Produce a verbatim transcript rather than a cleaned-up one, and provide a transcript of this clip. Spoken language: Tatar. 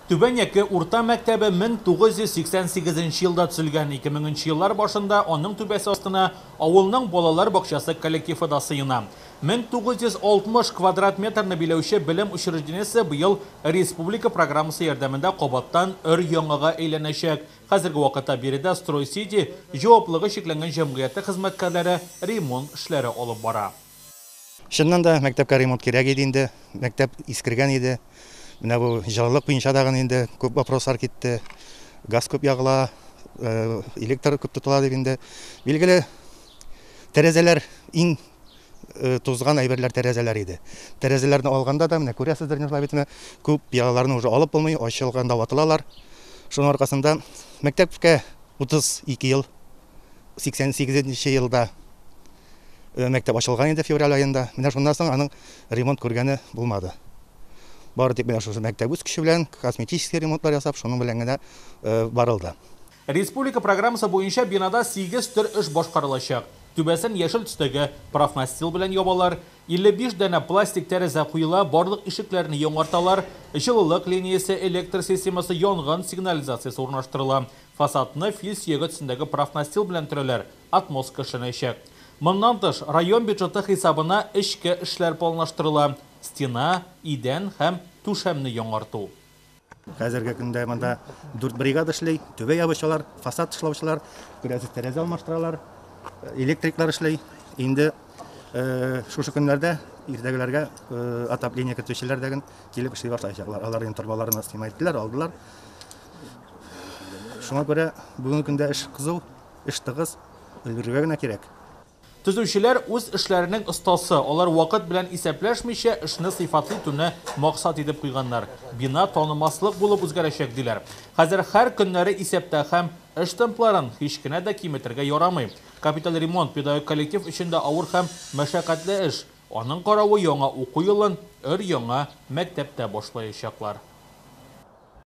Түбән Яке урта мәктәбе мең тугыз йөз сиксән сигезенче елда төзелгән. Ике меңенче еллар башында аның түбәсе астына авылның балалар бакчасы коллективы да сыена. Мең тугыз йөз алтмыш квадрат метрны биләүче белем учреждениесе быел республика программасы ярдәмендә кабаттан өр-яңага әйләнәчәк. Хәзерге вакытта биредә Строй-Сити җаваплылыгы чикләнгән җәмгыяте хезмәткәрләре ремонт эшләре алып бара. Чыннан да мәктәпкә ремонт кирәк иде инде. Мәктәп искергән иде. Менә бу җылылык буенча да инде күп вопрослар китте. Газ күп ягыла, э, электр күп тотыла дип инде. Билгеле, тәрәзәләр иң, э, тузган әйберләр тәрәзәләр иде. Тәрәзәләрне алганда да менә күрәсездер, Нурла бит, менә күп пыялаларны уже алып булмый, ачылганда ватылалар. Шуның аркасында мәктәпкә утыз ике ел, сиксән сигезенче елда, э, мәктәп ачылган инде февраль аенда. Менә шуннан соң аның ремонт күргәне булмады. Бары тик менә шушы мәктәп үз көче белән косметический ремонтлар ясап, шуның белән генә, э, барылды. Республика программасы буенча бинада сигез төр эш башкарылачак. Түбәсен яшел төстәге профнастил белән ябалар, илле биш данә пластик тәрәзә куела, барлык ишекләрне яңарталар, җылылык линиясе, электр системасы, янгын сигнализациясе урнаштырыла. Фасадны фил сөяге төсендәге профнастил белән төрәләр, отмостка эшләнәчәк. Моннан тыш, район бюджеты хисабына эчке эшләр планлаштырыла. Стена, идән һәм түшәмне яңарту. Хәзерге көндә монда дүрт бригада эшли, түбә ябучылар, фасад эшләүчеләр, күрәсез, тәрәзә алмаштыралар, электриклар эшли. Инде, э, шушы көннәрдә иртәгеләргә, э, отопление кертүчеләр дә килеп эшли башлаячаклар. Алар инде торбаларны снимать иттеләр, алдылар. Шуңа күрә бүгенге көндә эш кызу, эш тыгыз, өлгерергә генә кирәк. Төзүчеләр үз эшләренең остасы. Алар вакыт белән исәпләшмичә эшне сыйфатлы итүне максат итеп куйганнар. Бина танымаслык булып үзгәрәчәк диләр. Хәзер һәр көннәре исәптә һәм эш темпларын һич кенә дә киметергә ярамый. Капиталь ремонт педагогик коллектив өчен дә авыр һәм мәшәкатьле эш. Аның каравы яңа уку елын өр-яңа мәктәптә башлаячаклар.